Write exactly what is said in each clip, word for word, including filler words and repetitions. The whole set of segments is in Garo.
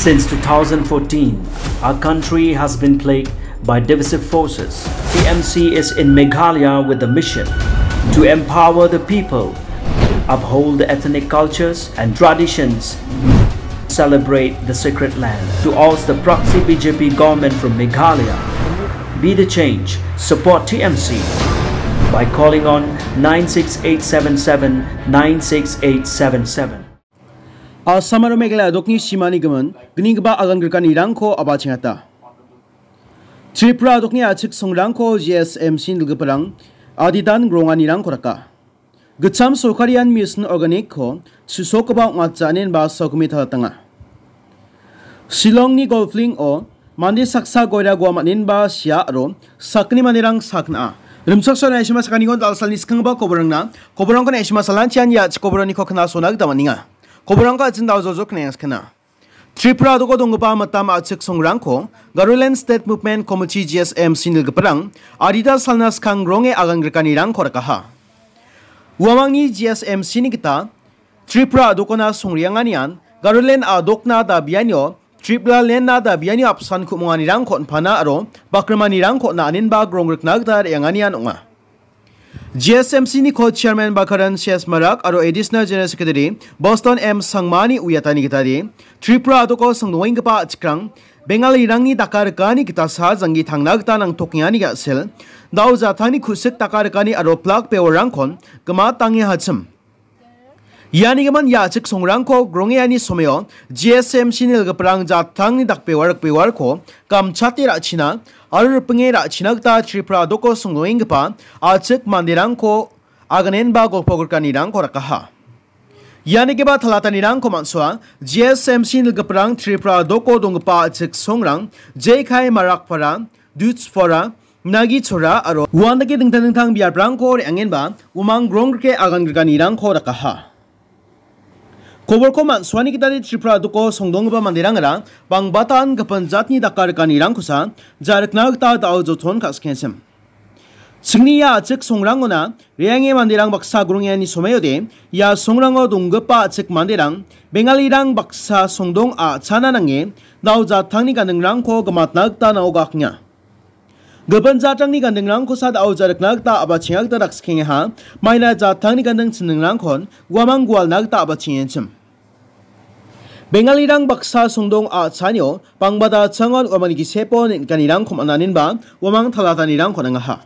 Since two thousand fourteen, our country has been plagued by divisive forces. T M C is in Meghalaya with the mission to empower the people, uphold the ethnic cultures and traditions, celebrate the sacred land. To oust the proxy B J P government from Meghalaya, be the change, support T M C by calling on nine six eight seven seven nine six eight seven seven. Assam aro Meghalaya a·dokni simani gimin gninggipa agan grikanirangko a·bachengata. Tripura a·dokni a·chik songrangko G S M C nilgiparang aditan gronganirangko raka. Gitcham sorkarian Mission Organic-ko su·sokgipa ong·atja inenba sakgni talatanga. Shillongni golfling-o mande saksa goira gua man·enba sia aro sakgni manderang sakna. Rimchaksoa naisima sakaniko dal·salni skanggipa koborangna, koborangko naisima salantian ia koboraniko knasona gita man·enga. Koborangko a·chin dao jojo knengaskana. Tripura a·doko donggipa mitam a·chik songrangko Garoland State Movement Committee G S M C nilgiparang adita salna skang gronge agan grikanirangko rakaha. Uamangni G S M C ni gita Tripura a·dokona songrianganian Garoland a·dokna dabianio Tripura Land-na dabianio apsan ku·monganirangko on·pana aro bakrimanirangko on·a inenba grong rikna gita re·anganian ong·a. G S M C ni co-chairman Bakaran C S Marak aro Additional General Secretary Boston M Sangmani uiatani gitade Tripura a·doko songdongenggipa a·chikrang Bengalirangni daka rikani gitasa janggi tangna gita nangtokengani ga·sel, dao jatangni ku·sik daka rikani aro plak pewarangkon gimatange hachim. Ianigimin ia a·chik songrangko grongeani someo G S M C nilgiparang jatangni dakpewar rikbewarko gamchate ra·china aro ripinge ra·china gita Tripura a·doko songdongenggipa a·chik manderangko aganenba golpo grikanirangko rakaha. Ianigipa talatanirangko man·soa G S M C nilgiparang Tripura a·doko donggipa a·chik songrang J K Marakpara, Duchpara, Nagichora aro uandake dingtang dingtang biaprangko re·angenba umang grong rike agan grikanirangko rakaha. Koborko man·suani gitade Tripura a·doko songdonggipa manderangara bangbatan gipin jatni daka rikanirangkosa ja·rikna gita da·o joton ka·sikengsim. Chingni ia a·chik songrangona re·ange manderang baksa grongeani somaode ia songrango donggipa a·chik manderang Bengalirang baksa songdong a·chana nange dao jatangni gandingrangko gimatna gita nao gakenga. Gipin jatrangni gandingrangkosa da·o ja·rikna gita a·bachenga gita dakskikengaha. Maina jatrangni ganding chindingrangkon uamang gualna gita a·bachengenchim. Bengalirang baksa songdong a·chanio bangbata changon uamangni gisepo ning·kanirangko man·aninba uamang talatanirangko nangaha.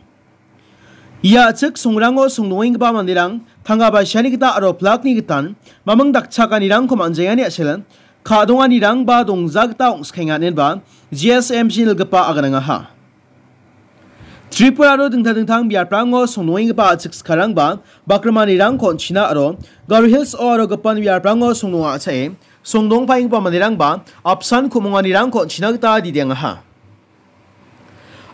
Ia a·chik songrango songdongenggipa manderang tangka baisiani gita aro plakni gitan maming dakchakanirangko man·jengani a·sel ka·donganirangba dongja gita ong·skenga inenba G S M C nilgipa aganangaha. Tripura aro dingtang dingtang biaprango songdongenggipa a·chik sikarangba bakrimanirangko on·china aro Garo Hills-o aro gipin biaprango songdong a·chae songdongpaenggipa manderangba apsan ku·monganirangko on·china gita didiangaha.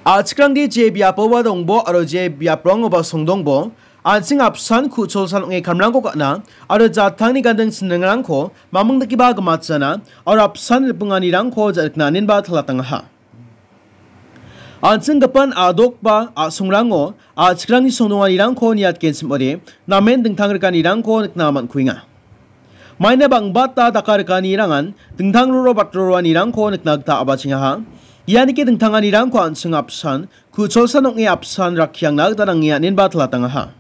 A·chikrangde je biapoba dongbo aro je biaprangoba songdongbo, an·ching apsan ku·cholsan ong·e kamrangko ka·na aro jatangni ganding chindingrangko maming dakeba gimatjana aro apsan ripinganirangko ja·rikna inenba talatangaha. An·ching gipin a·dokba a·songrango a·chikrangni songdonganirangko niatgenchim ong·ode, namen dingtang rikanirangko nikna man·kuenga. Maina bangbata daka rikanirangan dingtang roro batroroanirangko nikna gita a·bachengaha. Ianike dingtanganirangko an·ching apsan ku·cholsan ong·e apsan rakkiangna gita nange an·enba talatangaha.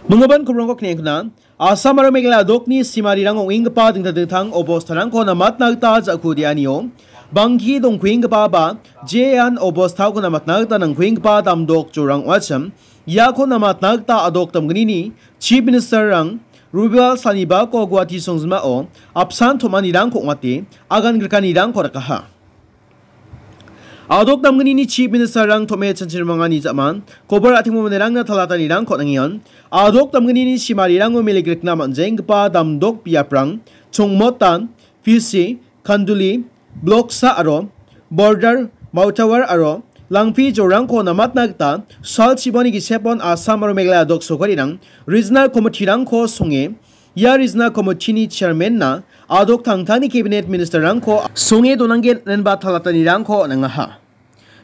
Minggipa kobrangko knekkna, Assam aro Meghalaya a·dokni simarang ong·enggipa dingtang dingtang obostarangko namatna gita ja·kudeanio bangki dongkuenggipa ba jean obostarangko namatna gita nangkuenggipa damdok jorang ong·achim. Iako namatna gita a·dok damgnini Chief Ministerrang Robiwal Sanibako Guwahati songjinmao apsan tom·anirangko ong·ate agan grikanirangko rakaha. A·dok damgnini Chief Ministerrang tom·e chanchirimangani ja·man, kobor a·timo manderangna talatanirangko nangenga. A·dok damgnini simarirango mele grikna man·jenggipa damdok biaprang, Chongmotan, Pisi, Khanduli, Bloksa aro Border, Mautawar aro Langphi jorangko namatna gita sal chiboni gisepon Assam aro Meghalaya a·dok sorkarirang Regional Committeerangko songe, ia Regional Committeeni Chairmanna a·dok tangtangni Cabinet Ministerrangko songe donanggen inenba talatanirangko nangaha.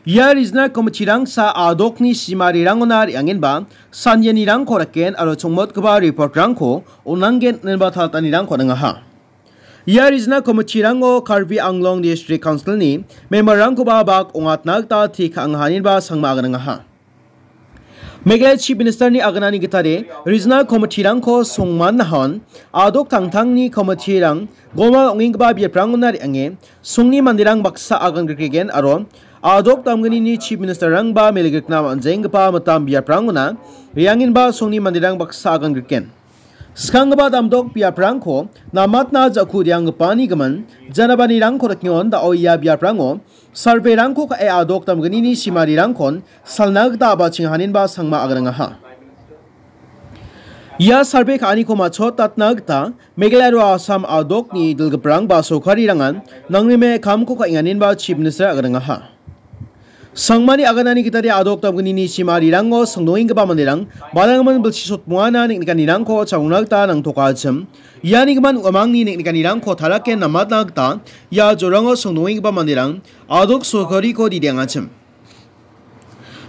Ia Regional Committeerangsa a·dokni simarirangona re·angenba sanjanirangko raken aro chongmotgipa reportrangko on·anggen inenba talatanirangko nangaha. Ia regional committeerango Karbi Anglong District Councilni memberrangkoba bak ong·atna gita te ka·angaha ineba sangma aganangaha. Meghalaya Chief Ministerni aganani gitade regional committeerangko songman nahon, adok tangtangni committeerang gomal ong·enggipa biaprangona re·ange songni manderang baksa agan grikregen aro adok damgnini Chief Ministerrangba mele grikna man·jenggipa mitam biaprangona re·angenba songni manderang baksa agan griken. Skanggipa damdok biaprangko namatna ja·ku re·anggipani gimin, janabanirangko rikngon da·o ia biaprango surveyrangko ka·e adok damgnini simarirangkon salna gita a·bachengaha ineba sangma aganangaha. Ia survey ka·aniko matchotatna gita Meghalaya aro Assam adokni dilgiprang ba sorkarirangan nangrime kamko ka·enga ineba Chief Minister aganangaha. Sangmani aganani gitade adok damgnini simarirango songdongenggipa manderang balanggimin bilsi sotmungana neng·nikanirangko chagrongna gita nangtokachim. Iani gimin uamangni neng·nikanirangko talake namatna gita ia jorango songdongenggipa manderang adok sorkariko didengachim.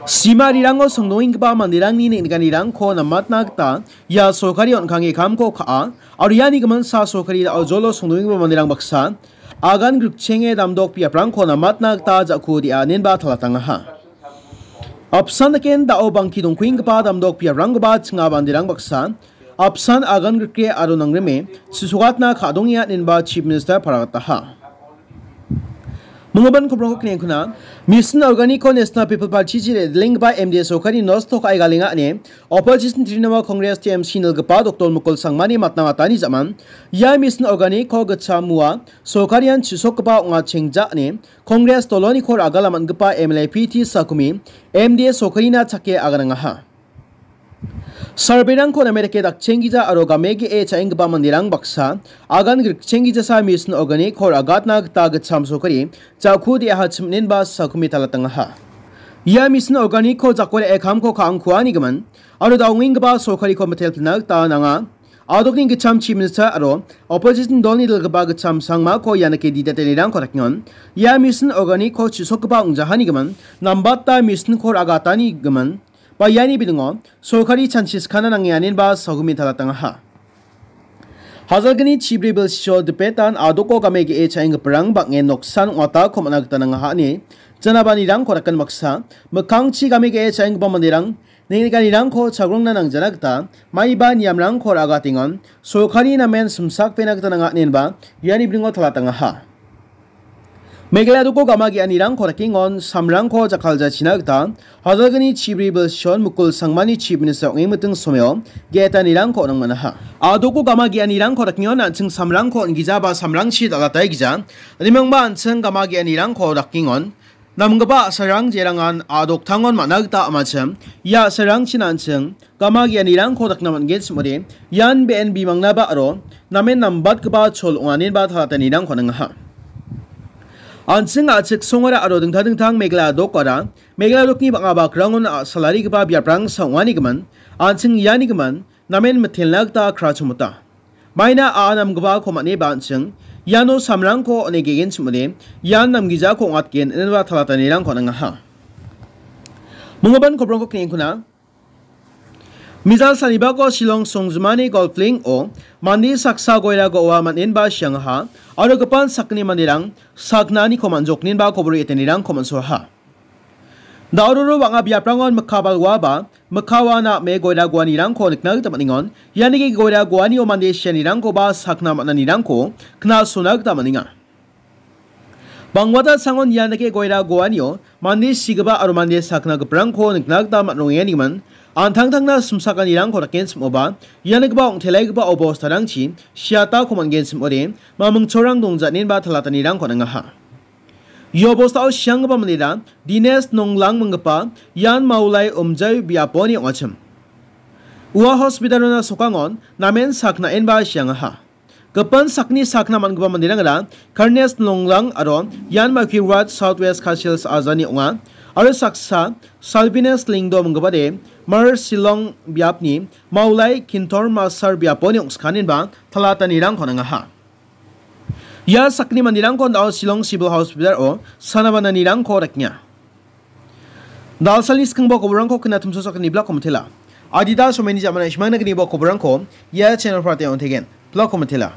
Simarirango songdongenggipa manderangni neng·nikanirangko namatna gita ia sorkari on·kange kamko ka·a, aro iani giminsa sorkari da·o jolo songdongenggipa manderang baksa agan grikchenge damdok biaprangko namatna gita ja·ku re·a inenba talatangaha. Apsan daken da·o bangki dongkuenggipa damdok biaprangkoba chinga manderang baksa apsan agan grikre aro nangrime chisogatna ka·dongenga inenba Chief Minister paragataha. Minggimin koprongko kniengkuna, Mission Organic-ko National People Party-chi re·dilenggipa M D A sorkari nosto ka·e galenga ine Opposition Trinamool Congress T M C nilgipa Doktor Mukul Sangmani matna matani jaman, ia Mission Organic-ko gitcham mua sorkarian chisokgipa ong·a chengja ine Congress doloniko ragala man·gipa M L A P T Sakumi M D A sorkarina chake aganangaha. Surveyrangko name dake dakchenggija aro game ge·e cha·enggipa manderang baksa agan grikchenggijasa Mission Organic-ko ragatna gita gitcham sorkari ja·ku de·aha chim·enba Sakumi talatangaha. Ia Mission Organic-ko jako re·e kamko ka·angkuanigimin aro da·ongenggipa sorkariko mitelpilna gita nanga. Adokni gitcham Chief Minister aro opposition dolni dilgipa gitcham Sangmako ia nike didatenirangko dakengon. Ia Mission Organic-ko chisokgipa ong·jahanigimin, nambata Mission-ko ragatanigimin, ba iani bilingo sorkari chanchi skana nangenga inenba Sakumi talatangaha. Hajalgni chibri bilsio dipetan adoko game ge·e cha·enggiparang bang·en noksan ong·atako man·a gita nangaha ine janabanirangko daken baksa, mikkangchi game ge·e cha·enggipa manderang neng·nikanirangko chagrongna nangjana gita maiba niamrangko ra·agatengon, sorkari namen simsakpena gita nanga inenba iani bilingo talatangaha. Meghalaya doko gama ge·anirangko dakengon samrangko jakkaljachina gita Hajalgni chibri bilsion Mukul Sangmani Chief Minister ong·e miting someo ge·etanirangko nangmanaha. Adoko gama ge·anirangko dakengon an·ching samrangko on·gija ba samrangchi dal·ataigija. Rimangba an·ching gama ge·anirangko dakengon namgipa a·sarang jerangan adoktangon man·a gita amachim. Ia a·sarangchin an·ching gama ge·anirangko dakna man·gen sim·ode, ian be·en bimangnaba aro namen nambatgipa chol ong·anenba talatanirangko ningaha. An·ching a·chik songara aro dingtang dingtang Meghalaya dokara, Meghalaya dokni bang·a bakrangon a·salarigipa biaprangsa ong·anigimin, an·ching ianigimin namen mitelna gita krachomota. Maina a namgipako man·eba an·ching iano samrangko on·e ge·gen sim·ode, ian namgijako ong·atgen ineba talatanirangko ningaha. Minggimin koprongko kniengkuna. Mijal sanibako Shillong songjimani golfling-o mande saksa goira go·a man·enba siangaha aro gipan sakgni manderang sakgnaniko man·joknenba kobor etenirangko man·soaha. Dauroro bang·a biaprangon mikka balwa ba mikka ua na·ame goira goanirangko nikna gita man·engon. Ianike goira goanio mande sianirangkoba sakna man·anirangko knasona gita man·enga. Bangwata sangon ianike goira goanio mande sigipa aro mande sakna giprangko nikna gita man·rongengenigimin, an·tangtangna simsakanirangko daken sim·oba, ianigipa ong·telaigipa obostarangchi siatako man·gen sim·ode, mamingchorang dongjatnenba talatanirangko ningaha. Ia obostao sianggipa mandera Dines Nonglang minggipa ian Maulai Umjai biaponi ong·achim. Ua hospitalona sokangon namen saknaenba siangaha. Gipan sakni sakna man·gipa manderangara Karnes Nonglang aro ian Maki Ward South West Khasi Hills ajani ong·a. Aro saksa Salvines Lingdo minggipade Mar Shillong biapni Maulai Kintor Masar biaponi ong·skanenba talatanirangko ningaha. Ia sakni manderangko dao Shillong Civil Hospital-o sanabananirangko dakenga. Dalsalni skangba koborangko kena tumso sakni blog komitela. Adita someni jamana ismangna gniba koborangko ia channel prate on tegen. Blog komitela.